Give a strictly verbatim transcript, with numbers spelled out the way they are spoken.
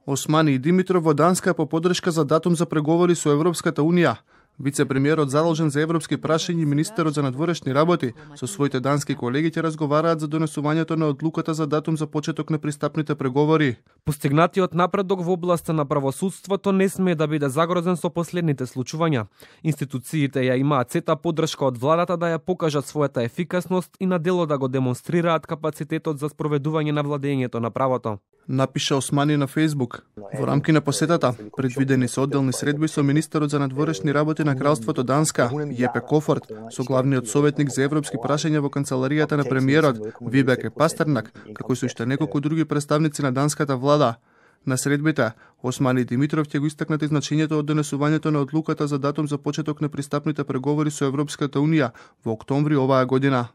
Османи Димитров во Данска по поддршка за датум за преговори со Европската Унија. Вице-премиерот задолжен за европски прашања и министерот за надворешни работи со своите дански колеги ќе разговараат за донесувањето на одлуката за датум за почеток на пристапните преговори. Постигнатиот напредок во областа на правосудството не смее да биде загрозен со последните случувања. Институциите ја имаат сета поддршка од владата да ја покажат својата ефикасност и на дело да го демонстрираат капацитетот за спроведување на владењето на правото. Напиша Османи на Фејсбук. Во рамки на посетата предвидени се одделни средби со министерот за надворешни работи на Кралството Данска, Јепе Кофорт, со главниот советник за европски прашања во канцеларијата на премиерот, Вибеке Пастернак, како и со уште неколку други представници на данската влада. На средбите, Османи Димитров ќе го истакнат значењето од донесувањето на одлуката за датум за почеток на пристапните преговори со Европската Унија во октомври оваа година.